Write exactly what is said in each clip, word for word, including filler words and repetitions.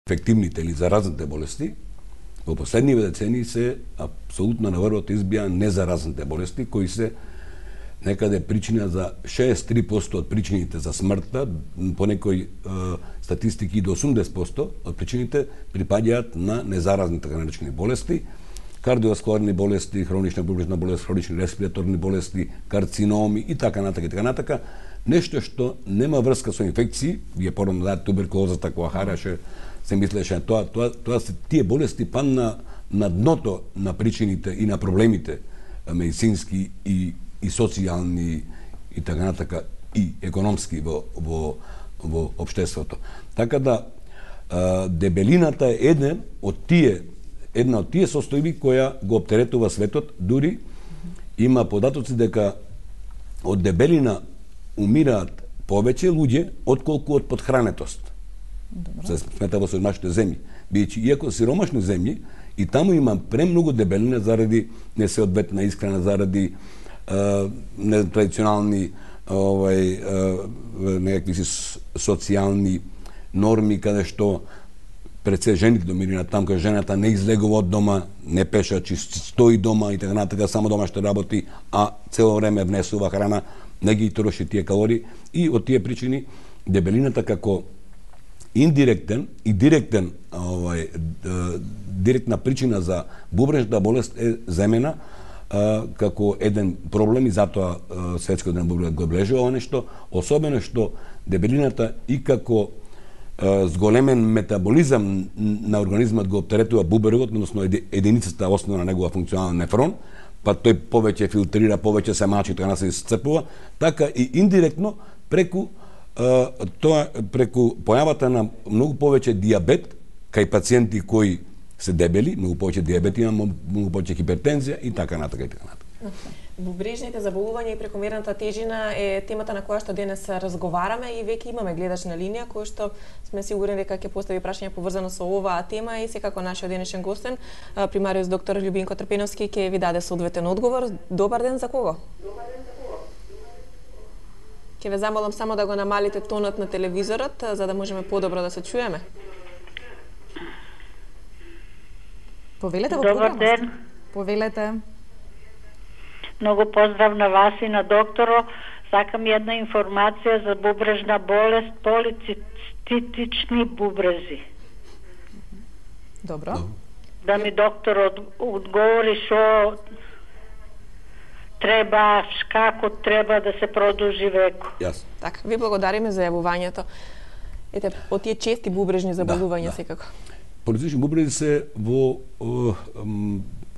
инфективните или заразните болести, во последниве децении се апсолутно на врвот избија незаразните болести, кои се некаде причина за шеесет и три проценти од причините за смртта, по некои е, статистики и до осумдесет проценти од причините припаѓаат на незаразни така наречени болести, кардиоваскуларни болести, хронична бубрежна болест, хронични респираторни болести, карциноми и така натака и така натака, нешто што нема врска со инфекции, вие порано да туберкулозата која хараше, се мислеше тоа, тоа, тоа се тие болести падна на дното на причините и на проблемите медицински и и социјални и така натака и економски во во во општеството. Така да дебелината е еден од тие една од тие состојби која го оптеретува светот, дури има податоци дека од дебелина умираат повеќе луѓе отколку од подхранетост. Се смета во сиромашните земји. Бидејќи иако сиромашни земји и таму има премногу дебелина заради несеодветна исхрана, заради нетрадиционални овај некакви социјални норми каде што пред се жените доминираат, таму каде жената не излегува од дома, не пеша, чи стои дома и така натака, само дома што работи, а цело време внесува храна, не ги троши тие калории и од тие причини дебелината како индиректен и директен овај директна причина за бубрежната болест е земена како еден проблем и затоа Светскиот ден бубрегот го облежува ова нешто, особено што дебелината и како зголемен метаболизам на организмот го оптеретува бубрегот, односно единицата основна на негова функционален нефрон, па тој повеќе филтрира, повеќе се мачи, така се исцепува, така и индиректно преку тоа преку појавата на многу повеќе дијабет кај пациенти кои се дебели, многу повеќе дијабет има, многу повеќе хипертензија и така натака и така натака. Бубрежните заболувања и прекомерната тежина е темата на која што денес разговараме и веќе имаме гледач на линија кој што сме сигурни дека ќе постави прашање поврзано со оваа тема и секако нашиот денешен гостен, примариус доктор Љубинко Трпеновски, ќе ви даде соодветен одговор. Добар ден, за кого? Добар ден, за кого? Ќе ве замолам само да го намалите тонот на телевизорот, за да можеме подобро да се чуеме. Повелете во програмата. Добар ден. Повелете. Многу поздрав на вас и на докторо. Сакам една информација за бубрежна болест, полицистични бубрези. Добро. Да ми доктор од, одговори што треба, како треба да се продолжи веко. Јас. Така, ви благодариме за јавувањето. Ете, од тие чести бубрежни заболувања да, да. Секако. Полицистични бубрези се во, во,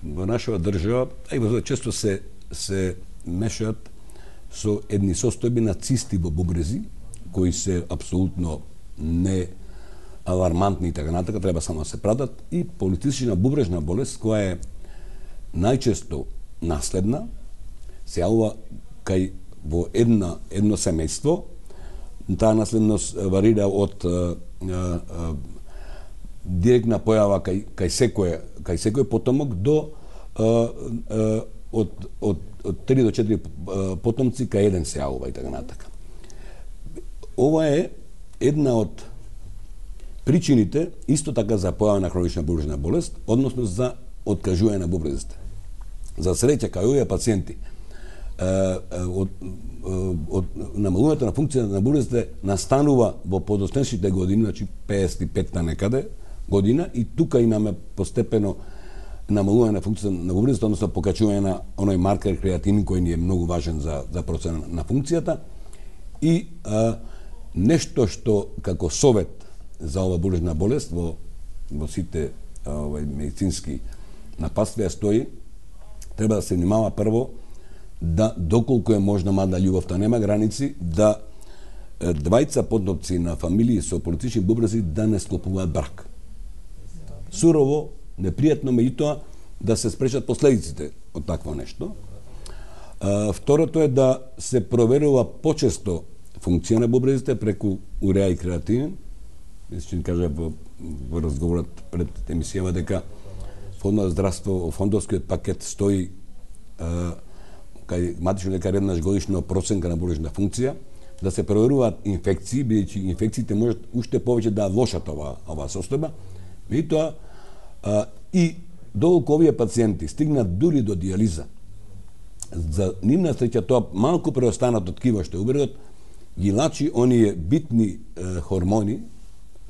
во нашава држава, а и во често се се мешаат со едни состојби на цисти во бубрези, кои се апсолутно не алармантни и така натака, треба само да се пратат, и полицистична бубрежна болест, која е најчесто наследна, се јавува кај во една, едно семејство. Таа наследност варира од а, а, директна појава кај, кај секој кај секој потомок до а, а, од, од, од три до четири потомци кај еден се јавува и така натака. Ова е една од причините исто така за појава на хронична бубрежна болест, односно за откажување на бубрезите. За среќа кај овие пациенти од, од намалувањето на функцијата на бубрезите настанува во подоснешните години, значи педесет и петта некаде година, и тука имаме постепено намалување на функцијата на бубрезите, односно покачување на оној маркер креатинин кој ни е многу важен за за процена на функцијата. И а, нешто што како совет за ова бубрежна болест во во сите овај медицински напатствија стои, треба да се внимава прво да доколку е можно, мада љубовта нема граници, да двајца потомци на фамилии со полицистични бубрези да не склопуваат брак. Сурово, непријатно, меѓутоа да се спречат последиците од такво нешто. А, второто е да се проверува почесто функција на бубрезите преку уреа и креатинин. Ќе кажа во, во разговорот пред емисијава дека Фондот за здравство, фондовскиот пакет стои а, кај матични лекар еднаш годишно проценка на бубрежна функција. да се проверуваат инфекции, бидејќи инфекциите можат уште повеќе да влошат ова ова состојба. Меѓутоа и доколку овие пациенти стигнат дури до дијализа, за нивна среќа тоа малку преостанато ткиво што е убредот ги лачи оние битни е, хормони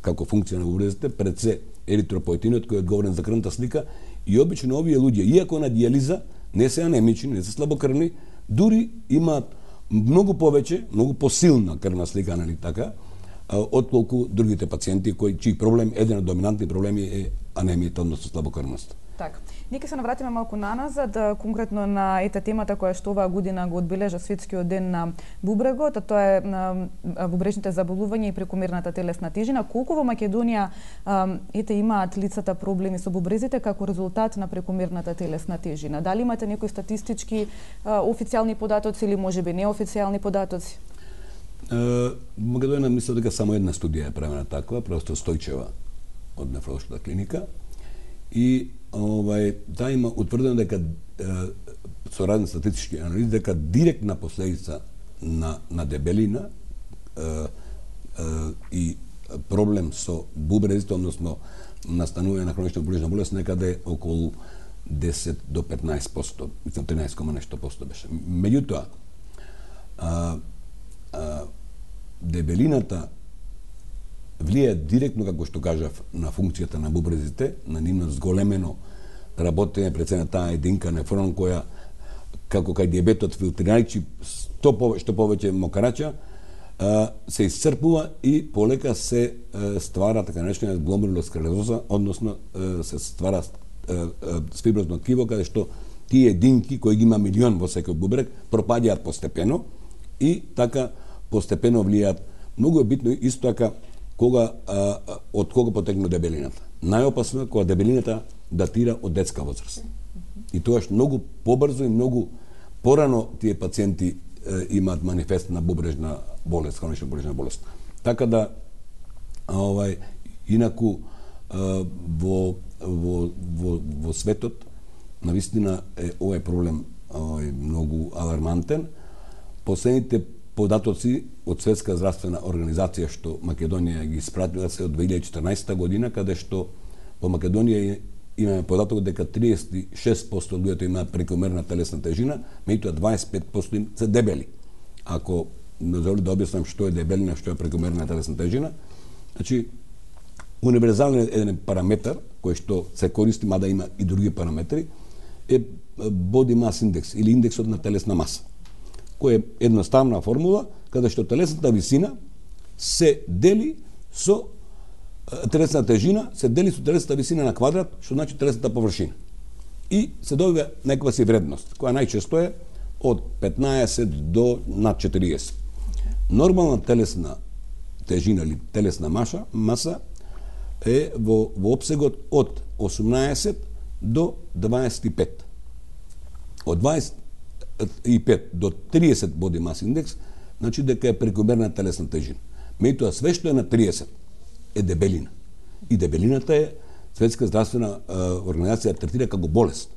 како функција на бубрезите, пред се еритропоетинот кој е одговорен за крвната слика, и обично овие луѓе, иако на дијализа, не се анемични, не се слабокрвни, дури имаат многу повеќе, многу посилна крвна слика, нали така, отколку другите пациенти кои чиј проблем, еден од доминантни проблеми е анемијата, односно слабокрвност. Така. Ние ќе се навратиме малку наназад, конкретно на ета темата која што оваа година го одбележа Светскиот ден на бубрегот, а тоа е на бубрежните заболувања и прекомерната телесна тежина. Колку во Македонија ете имаат лицата проблеми со бубрезите како резултат на прекомерната телесна тежина? Дали имате некои статистички официјални податоци или можеби неофицијални податоци? Во Македонија мислам дека само една студија е правена таква, просто Стојчева од нефролошката клиника, и овај таа има утврдено дека е, со разни статистички анализи дека директна последица на на дебелина е, е, и проблем со бубрезите, односно настанување на хронична бубрежна болест, некаде околу десет до петнаесет проценти, мислам тринаесет кома нешто проценти беше. Меѓутоа, а, а, дебелината влијае директно, како што кажав, на функцијата на бубрезите, на нивно зголемено работење пред се на таа единка нефрон која, како кај диабетот филтрирајќи што повеќе, што повеќе мокрача, се исцрпува и полека се ствара така наречена гломерулосклероза, односно се ствара фиброзно ткиво, каде што тие единки кои ги има милион во секој бубрек пропаѓаат постепено и така постепено влијаат. Многу е битно исто така кога а, од кога потекне дебелината. Најопасно е кога дебелината датира од детска возраст. И тоа што многу побрзо и многу порано тие пациенти е, имаат манифест на бубрежна болест, хронична бубрежна болест. Така да овај инаку а, во во во во светот навистина е овој проблем овај многу алармантен. Последните податоци од Светска здравствена организација што Македонија ги испратила се од две илјади и четрнаесетта година, каде што во Македонија имаме податок дека триесет и шест проценти од луѓето имаат прекомерна телесна тежина, меѓутоа дваесет и пет проценти се дебели. Ако дозволи да објаснам што е дебелина, што е прекомерна телесна тежина, значи универзален еден параметар кој што се користи, мада има и други параметри, е body mass index или индексот на телесна маса, која е едноставна формула каде што телесната висина се дели со телесната тежина се дели со телесната висина на квадрат, што значи телесната површина. И се добива некаква си вредност, која најчесто е од петнаесет до над четириесет. Нормална телесна тежина или телесна маса, маса е во, во обсегот од осумнаесет до дваесет и пет. Од дваесет и пет до триесет body mass index, значи дека е прекомерна телесна тежина. Меѓутоа све што е на триесет е дебелина. И дебелината е Светска здравствена е, организација третира како болест.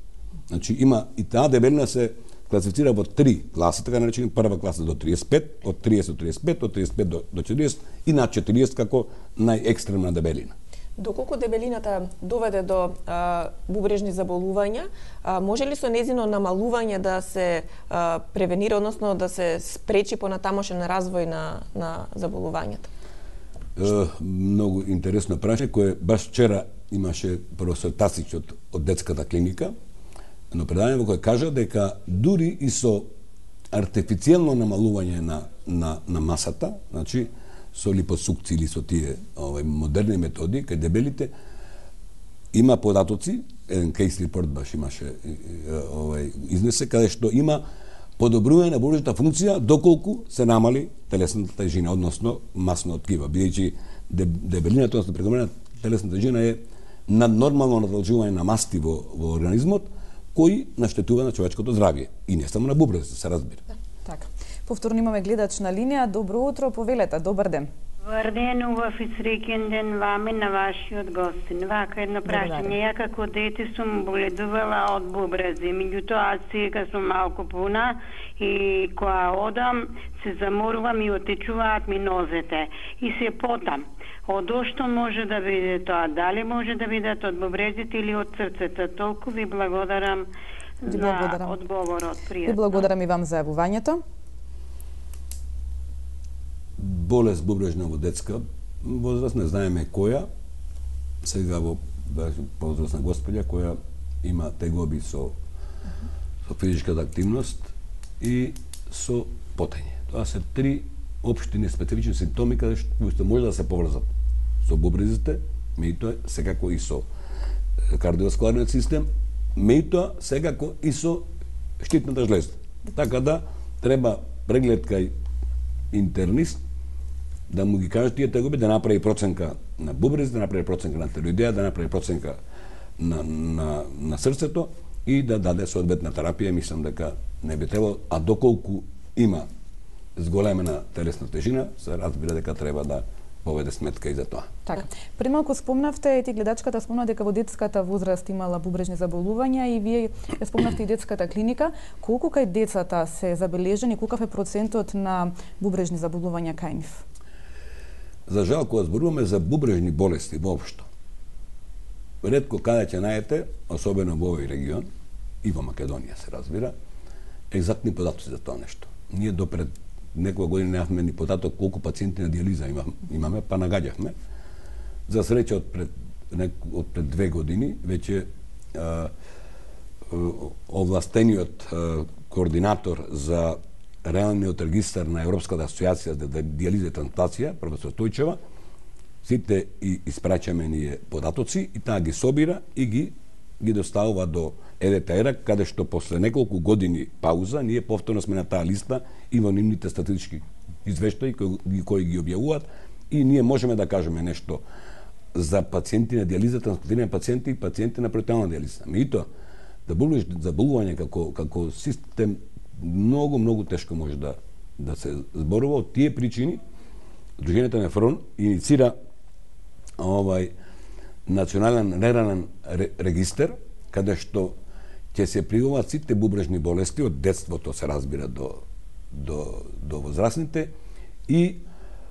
Значи има и таа дебелина се класифицира во три класи, така наречени прва класа до триесет и пет, од триесет до триесет и пет, од триесет и пет до, до четириесет и над четириесет како најекстремна дебелина. Доколку дебелината доведе до а, бубрежни заболувања, а, може ли со незино намалување да се а, превенира, односно да се спречи понатамошен развој на, на заболувањата? Е, многу интересно прашање, кое баш вчера имаше професор Тасич од, од детската клиника, но предавање во кој кажа дека дури и со артифицијално намалување на, на, на масата, значи со липосукција или со тие овај модерни методи кај дебелите, има податоци, еден кейс репорт баш имаше овај изнесе, каде што има подобрување на бубрежната функција доколку се намали телесната тежина, односно масно ткиво, бидејќи дебелината, односно прекомерна телесна тежина е наднормално надолжување на масти во, во организмот, кои наштетува на човечкото здравје и не само на бубрезите, се разбира. Да, така. Повторно имаме гледач на линија. Добро утро, повелете, добар ден. Добар ден, убав и среќен ден вами на вашиот гостин. Вака едно прашање. Ја како дете сум боледувала од бубрези, меѓутоа сега сум малку пуна и кога одам се заморувам и отечуваат ми нозете и се потам. Од што може да биде тоа? Дали може да бидат од бубрезите или од срцето? Толку ви благодарам ви за благодарам. одговорот. Пријатно. Ви благодарам и вам за јавувањето. Болест бубрежна во детска возраст, не знаеме која, сега во возрастна господја која има тегоби со, со физичката активност и со потење. Тоа се три општини специфични симптоми каде што може да се поврзат со бубрезите, меѓутоа секако и со кардиоваскуларниот систем, меѓутоа секако и со штитната жлеза. Така да треба преглед кај интернист да му ги каже тие тегоби, да направи проценка на бубрез, да направи проценка на тироидеја, да направи проценка на, на, на срцето и да даде соодветна терапија. Мислам дека не би требало, а доколку има зголемена телесна тежина, се разбира дека треба да поведе сметка и за тоа. Така. Пред малку спомнавте, ти гледачката спомна дека во детската возраст имала бубрежни заболувања и вие ја спомнавте и детската клиника. Колку кај децата се забележени, колкав е процентот на бубрежни заболувања кај нив? За жал, кога зборуваме за бубрежни болести воопшто, ретко каде ќе најдете, особено во овој регион, и во Македонија се разбира, екзактни податоци за тоа нешто. Ние допред некоја година немавме ни податок колку пациенти на диализа имаме, па нагаѓавме. За среќа од пред, од пред две години веќе а, овластениот а, координатор за реалниот регистар на Европската асоциација за диализа и трансплантација, професор Тојчева, сите и испрачаме ние податоци и таа ги собира и ги ги доставува до Е Д Т Р, каде што после неколку години пауза ние повторно сме на таа листа и во нивните статистички извештаи кои, кои ги објавуваат и ние можеме да кажеме нешто за пациенти на диализа, трансплантирани пациенти и пациенти на перитонална диализа. Меѓутоа, да болеш заболување како како систем многу многу тешко може да да се зборува. Од тие причини Друженијето Нефрон иницира овај национален нерален регистер каде што ќе се пријавуваат сите бубрежни болести од детството, се разбира, до до до возрастните и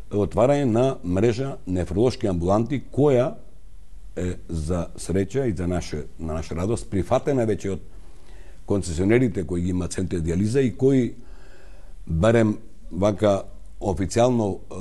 отварање на мрежа нефролошки амбуланти која е за среќа и за наше на наша радост прифатена веќе од концесионерите кои ги имаат центри диализа и кои барем вака официјално е,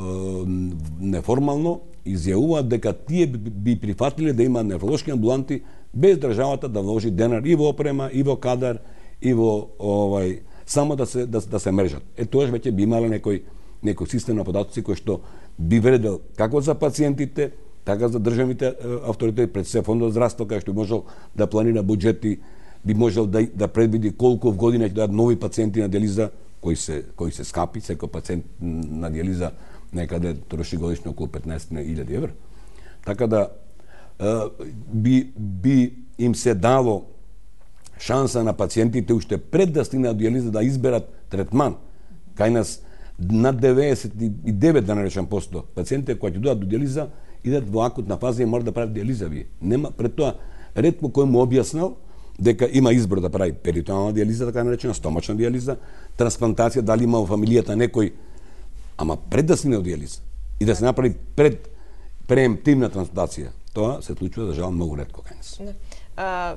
неформално изјавуваат дека тие би прифатиле да имаат нефролошки амбуланти без државата да вложи денар и во опрема, и во кадар, и во овај само да се да, да се мрежат. Е тоа веќе би имале некој некој систем на податоци кој што би вредел како за пациентите, така за државните авторитети, пред се фондот за здравство кај што би можел да планира буџети, би можел да да предвиди колку в година ќе дадат нови пациенти на диализа кои се кои се скапи, секој пациент на диализа некаде троши годишно околу петнаесет илјади евра. Така да би би им се дало шанса на пациентите уште пред да стигнат до диализа да изберат третман. Кај нас над деветдесет и девет да наречам посто пациентите кои ќе дојдат до диализа идат во акутна фаза и мора да прават диализа вие. Нема пред тоа ретко кој му објаснал дека има избор да прави перитонална диализа, така наречена стомачна диализа, трансплантација, дали има во фамилијата некој, ама пред да стигне до диализа и да се направи пред преемптивна трансплантација. Тоа се случува за жал многу ретко кај нас. А,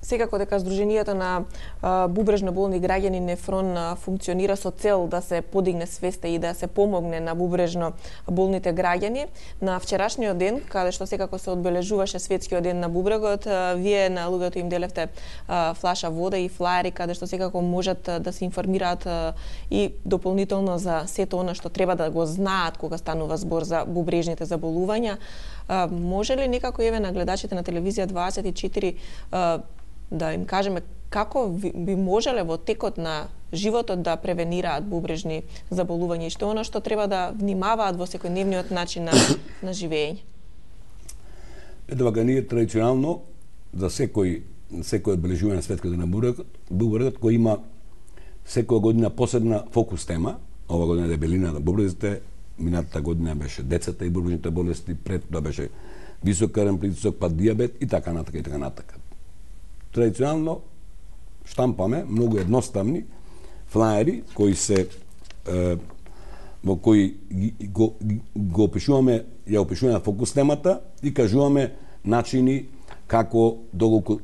секако дека Сдруженијето на а, бубрежно болни граѓани Нефрон а, функционира со цел да се подигне свеста и да се помогне на бубрежно болните граѓани. На вчерашниот ден, каде што секако се одбележуваше светскиот ден на бубрегот, а, вие на луѓето им делевте а, флаша вода и флаери каде што секако можат а, да се информираат а, и дополнително за сето она што треба да го знаат кога станува збор за бубрежните заболувања. А, може ли некако еве на гледачите на телевизија дваесет и четири а, да им кажеме како би можеле во текот на животот да превенираат бубрежни заболувања и што оно што треба да внимаваат во секојдневниот начин на, на живење? Ето вака ние традиционално за секој секој одбележување на светскиот ден на бубрегот кој има секоја година посебна фокус тема, ова година дебелина на бубрезите, минатата година беше децата и бурбрежните болести, пред тоа беше висок крвен притисок, па дијабет и така натака и така натака. Традиционално штампаме многу едноставни флаери кои се е, во кои го, го опишуваме, ја опишуваме фокус темата и кажуваме начини како доколку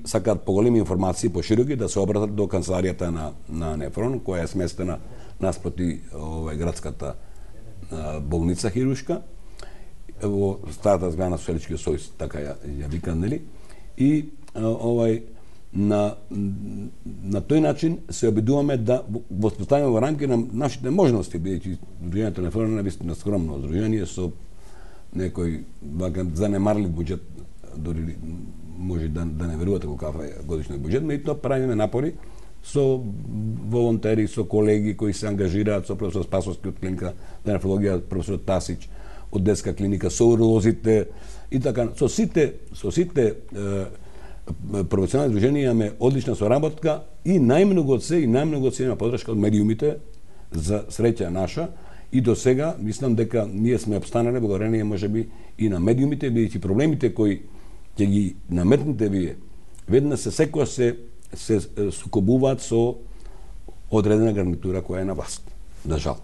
сакаат поголеми информации пошироки да се обратат до канцеларијата на на Нефрон, која е сместена наспроти овој градската а, болница хирушка во старата зграда на Социјалистичкиот сојуз, така ја, ја викан, нели? И а, овај на на тој начин се обидуваме да воспоставиме во рамки на нашите можности, бидејќи Здруженијето на Нефрон е вистина скромно здружение со некој занемарлив буџет, дори може да, да не верувате колкав е годишниот буџет, меѓутоа правиме напори со волонтери, со колеги кои се ангажираат, со професор Спасовски од клиника за нефрологија, професор Тасич од детска клиника, со уролозите и така, со сите, со сите е, професионални здруженија имаме одлична соработка и најмногу од се и најмногу од се има подршка од медиумите за среќа наша. И до сега мислам дека ние сме обстанале благодарение можеби и на медиумите, бидејќи проблемите кои ќе ги наметнете вие веднаш се секоја се се сукобуваат со одредена гарнитура која е на власт. Да жал.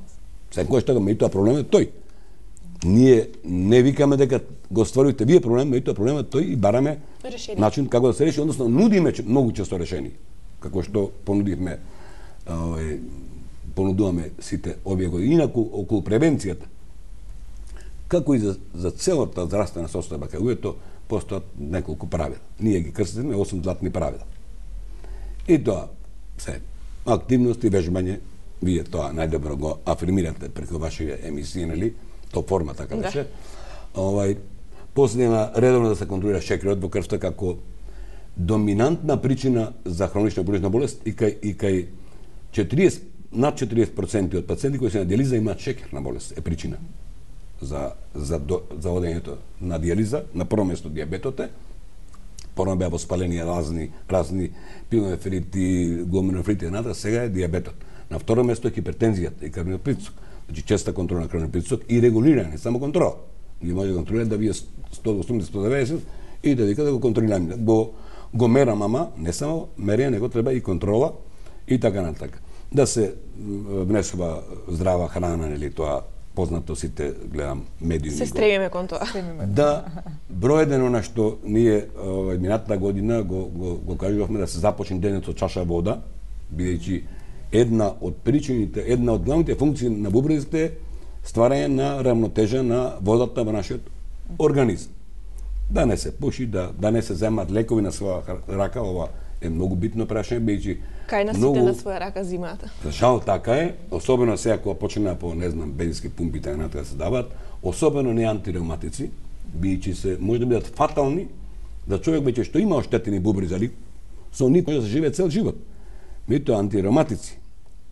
Секојаш така, меѓутоа проблемот е тој. Ние не викаме дека го стварувате вие проблем, меѓутоа проблемот е тој и бараме решение. Начин како да се реши, односно нудиме многу често решени, како што понудивме овој понудуваме сите овие години. Инаку околу превенцијата, како и за, за целата здравствена состојба кај луѓето, постојат неколку правила. Ние ги крстиме осум златни правила. И тоа се активности, вежбање, вие тоа најдобро го афирмирате преку вашите емисии, нели? То форма така да се. Овај последна редовно да се контролира шекерот во крвта како доминантна причина за хронична бурбрежна болест и кај и кај четириесет над четириесет проценти од пациенти кои се на дијализа имаат шекерна болест, е причина за за до, за одењето на дијализа. На прво место дијабетот е, порано беа воспалени разни разни пилонефрити, гломерулонефрити и натаму, сега е дијабетот. На второ место е хипертензијата и крвниот притисок. Значи честа контрола на крвниот притисок и регулирање, само контрола. Ние може да контролираме да вие сто осумдесет до сто деветдесет и да вика да го контролираме. Го го мерам, ама не само мерење, него треба и контрола и така натака. Да се внесува здрава храна, нели, тоа познато сите, гледам медиуми. Се стремиме кон тоа. Да, број еден она што ние овај минатата година го го го кажувавме да се започне денот со чаша вода, бидејќи една од причините, една од главните функции на бубрезите е стварање на равнотежа на водата во нашиот организам. Да не се пуши, да да не се земат лекови на своја рака, ова е многу битно прашање, бидејќи кај нас многу... сите на своја рака зимата. За жал така е, особено сега кога почнаа по, не знам, бензински пумпи така натаму да се даваат, особено не антиреуматици, бидејќи се може да бидат фатални за човек веќе што има оштетени бубрези, али со нив може да се живее цел живот. Меѓутоа антиреуматици,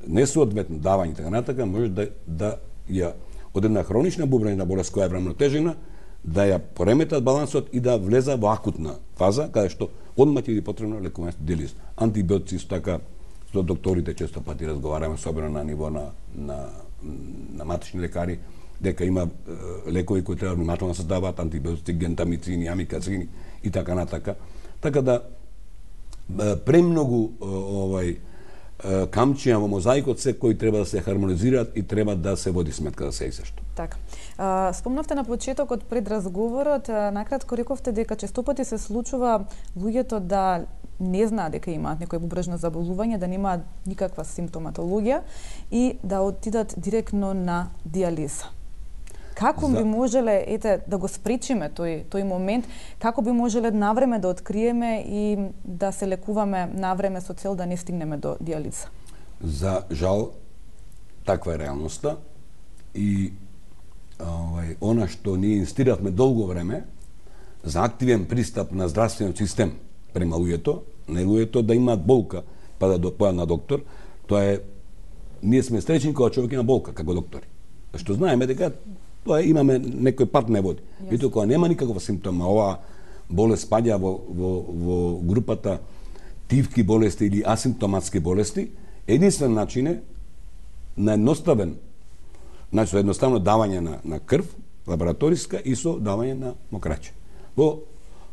несоодветно давање така натака може да да ја од една хронична бубрежна болест која е рамнотежена, да ја пореметат балансот и да влеза во акутна фаза, каде што одма ќе биде потребно лекување со дијализа. Антибиотици со така со докторите често пати разговараме, особено на ниво на на на матични лекари, дека има е, лекови кои треба внимателно да се даваат, антибиотици, гентамицини, амикацини и така натака. Така да е, премногу е, овај камчија во мозаикот се кои треба да се хармонизираат и треба да се води сметка да се и сешто. Така. А, спомнавте на почетокот пред разговорот, накратко рековте дека често пати се случува луѓето да не знаат дека имаат некој бубрежно заболување, да немаат никаква симптоматологија и да отидат директно на дијализа. Како би можеле, ете, да го спречиме тој тој момент, како би можеле навреме да откриеме и да се лекуваме навреме со цел да не стигнеме до дијализа? За жал, таква е реалноста и овај она што ние инстиравме долго време за активен пристап на здравствениот систем према луѓето, не луѓето да имаат болка па да допојат на доктор, тоа е ние сме среќни кога човек има болка како доктори. Што знаеме дека тоа имаме некој пат не води. Меѓутоа кога нема никаква симптома, оваа болест спаѓа во во во групата тивки болести или асимптоматски болести, единствен начин е на едноставен Значи, со едноставно давање на, на крв, лабораториска, и со давање на мокраче. Во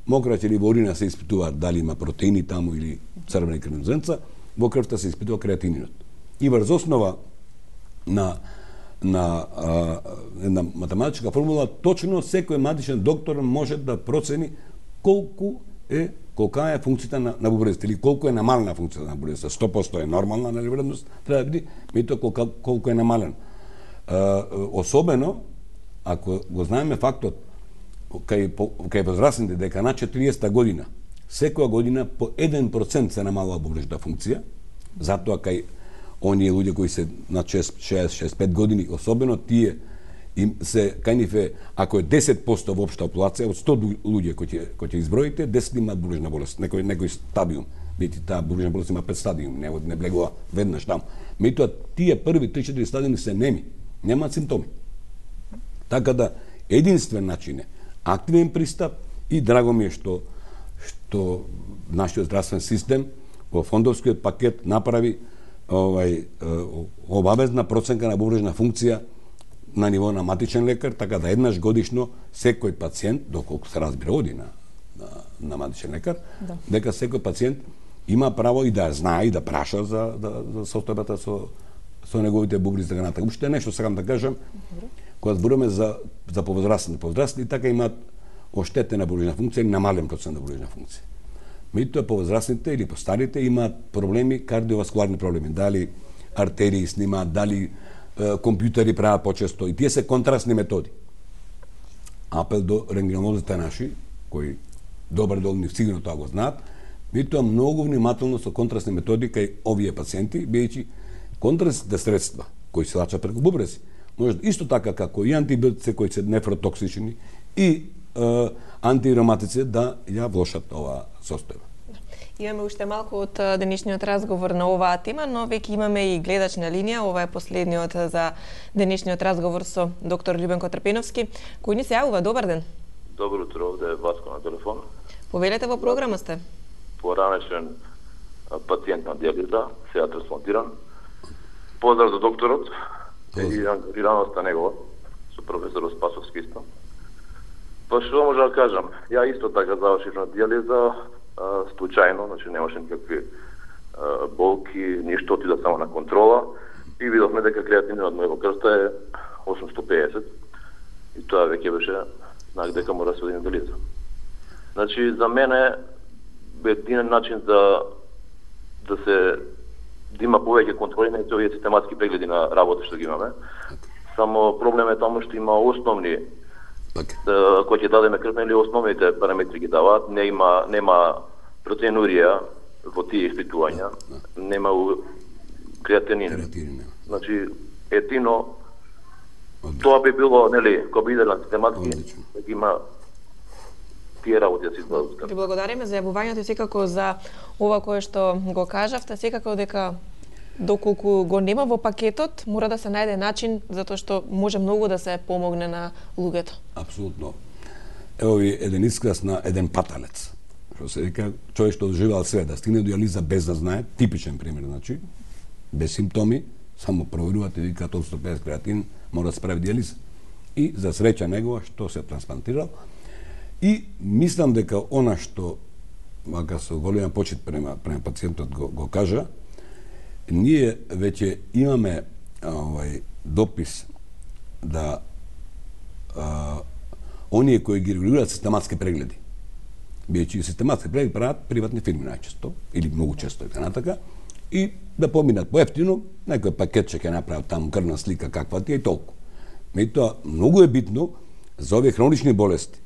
мокраче или во урина се испитува дали има протеини таму или црвени крвни зрнца, во крвта се испитува креатининот. И врз основа на на а, една математичка формула, точно секој матичен доктор може да процени колку е колка е функцијата на, на бубрезите или колку е намалена функцијата на бубрезите. сто проценти е нормална, нели, вредност, треба да биде, меѓутоа колку, колку е намален. А, особено ако го знаеме фактот кај кај возрастните дека на четириесетта година секоја година по еден процент се намалува бубрежната функција, затоа кај оние луѓе кои се на шест, шест, шест, пет години, особено тие им се кај нив е, ако е десет проценти во општа популација, од сто луѓе кои ќе кои ќе изброите, десет имаат бубрежна болест, некој некој стадиум. Бидејќи таа бубрежна болест има пет стадиум, не не влегува веднаш таму. Меѓутоа тие први три-четири стадиуми се неми, немаат симптоми. Така да единствен начин е активен пристап и драго ми е што што нашиот здравствен систем во фондовскиот пакет направи овај обавезна проценка на бубрежна функција на ниво на матичен лекар, така да еднаш годишно секој пациент, доколку се разбира оди на, на, на матичен лекар, да. дека секој пациент има право и да знае и да праша за, за, за состојбата со, со неговите бубри за граната. Уште нешто сакам да кажам, кога зборуваме за, за повозрастни, повозрастни така имаат оштетена бубрежна функција или намален процент на бубрежна функција. Меѓутоа повозрастните или постарите имаат проблеми, кардиоваскуларни проблеми, дали артерии снимаат, дали е, компјутери прават почесто, и тие се контрастни методи. Апел до рентгенолозите наши, кои добар дел нив сигурно тоа го знаат, меѓутоа многу внимателно со контрастни методи кај овие пациенти, бидејќи контрастните средства кои се лачат преку бубрези, може исто така како и антибиотици кои се нефротоксични и е, антироматици да ја влошат оваа состојба. Имаме уште малку од денешниот разговор на оваа тема, но веќе имаме и гледач на линија. Ова е последниот за денешниот разговор со доктор Љубенко Трпеновски, кој ни се јавува. Добар ден. Добро утро, овде е Васко на телефон. Повелете, во програма сте. Поранешен пациент на диализа, сега трансплантиран. Поздрав за докторот и ангажираноста негова со професорот Спасовски исто. Па што може да кажам? Ја исто така завршив на диализа случајно, значи немаше никакви а, болки, ништо, отида само на контрола и видовме дека креатининот на крвта е осумстотини и педесет и тоа веќе беше знак дека мора да се оди на диализа. Значи за мене единен начин за да се да има повеќе контроли на овие систематски прегледи на работа што ги имаме. Само проблем е таму што има основни okay. кои ќе дадеме крв, или основните параметри ги даваат, не има нема протеинурија во тие испитувања, нема креатинин. Креатинин. Значи етино Одлично. Тоа би било, нели, кога биде на систематски, дека има тие работи да се извадат. Ви благодариме за јавувањето и секако за ова кое што го кажавте, секако дека доколку го нема во пакетот, мора да се најде начин, затоа што може многу да се помогне на луѓето. Апсолутно. Ево ви еден искрас на еден паталец. Што се вика, човек што доживеал све, да стигне до диализа без да знае, типичен пример, значи, без симптоми, само проверувате и викаат осумстотини и педесет креатин, мора да се прави диализа. И за среќа негова што се трансплантирал. И мислам дека она што, мака со голема почит према, према пациентот го, го кажа, ние веќе имаме овај допис да а, оние кои ги регулираат систематски прегледи, бидејќи систематски прегледи прават приватни фирми најчесто, или многу често е така натака, и да поминат поевтино, некој пакет ќе направат таму крвна слика каква ти е и толку. Меѓутоа, многу е битно за овие хронични болести,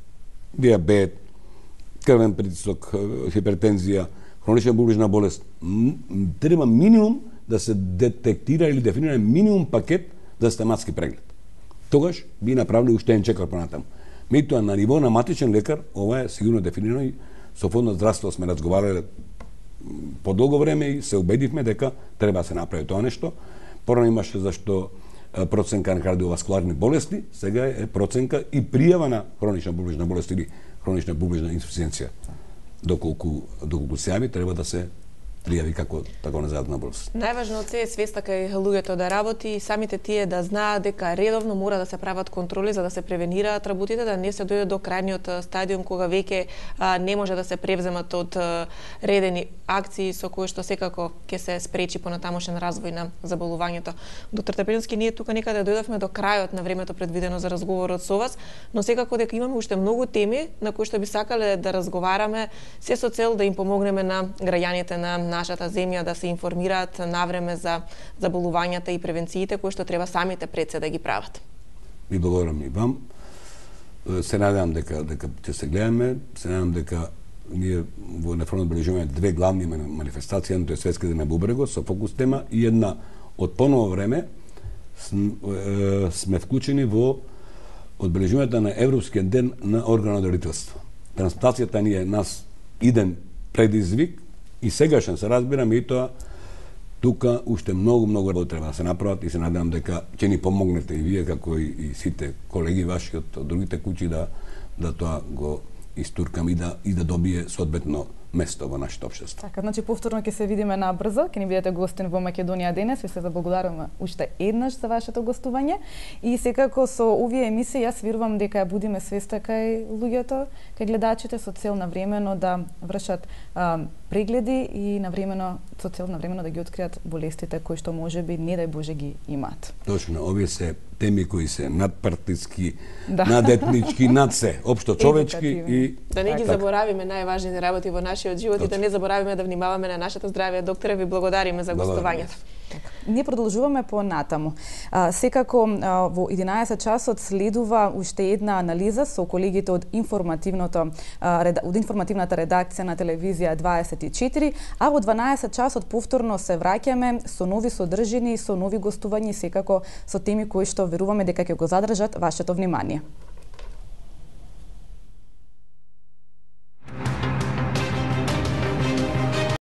диабет, крвен притисок, хипертензија, хронична бубрежна болест, треба минимум да се детектира или дефинира минимум пакет за систематски преглед. Тогаш би направили уште еден чекор понатаму. Меѓутоа на ниво на матичен лекар ова е сигурно дефинирано и со фонд на здравство сме разговарале подолго време и се убедивме дека треба да се направи тоа нешто. Порано имаше зашто проценка на кардиоваскуларни болести, сега е проценка и пријава на хронична бубрежна болест или хронична бубрежна инсуфициенција. Доколку доколку се јави, треба да се пријави како така незајатна болест. Најважно од се е свеста кај луѓето да работи и самите тие да знаат дека редовно мора да се прават контроли за да се превенираат работите, да не се дојде до крајниот стадиум кога веќе а, не може да се превземат од а, редени акции со кои што секако ќе се спречи понатамошен развој на заболувањето. Доктор Трпеновски, ние тука некаде дојдовме до крајот на времето предвидено за разговорот со вас, но секако дека имаме уште многу теми на кои што би сакале да разговараме, се со цел да им помогнеме на граѓаните на нашата земја да се информираат навреме за заболувањата и превенциите кои што треба самите пред се да ги прават. Ви благодарам и вам. Се надевам дека дека ќе се гледаме, се надевам дека ние во Нефронот бележиме две главни манифестации, едното е Светски ден на бубрегот со фокус тема и една од поново време сме вклучени во одбележувањето на Европскиот ден на органно дарителство. Трансплантацијата ни е нас иден предизвик и сегашен се разбираме и тоа тука уште многу многу работи треба да се направат и се надевам дека ќе ни помогнете и вие како и, и сите колеги ваши од другите куќи да да тоа го истуркам и да и да добие соодветно место во нашето општество. Така, значи повторно ќе се видиме набрзо, ќе ни бидете гостин во Македонија денес, ви се заблагодаруваме уште еднаш за вашето гостување и секако со овие емисии јас верувам дека ја будиме свеста кај луѓето, кај гледачите со цел навремено да вршат а, прегледи и навремено со цел навремено да ги откријат болестите кои што можеби не дај Боже ги имаат. Точно, овие се теми кои се надпартиски, да. надетнички, над се, општо човечки и да не ги така. заборавиме најважните работи во нашиот живот и да не заборавиме да внимаваме на нашето здравје. Докторе, ви благодариме за гостувањето. Ние продолжуваме по натаму. А, секако а, во единаесет часот следува уште една анализа со колегите од информативното а, реда, од информативната редакција на телевизија дваесет и четири, а во дванаесет часот повторно се враќаме со нови содржини и со нови гостувања, секако со теми кои што веруваме дека ќе го задржат вашето внимание.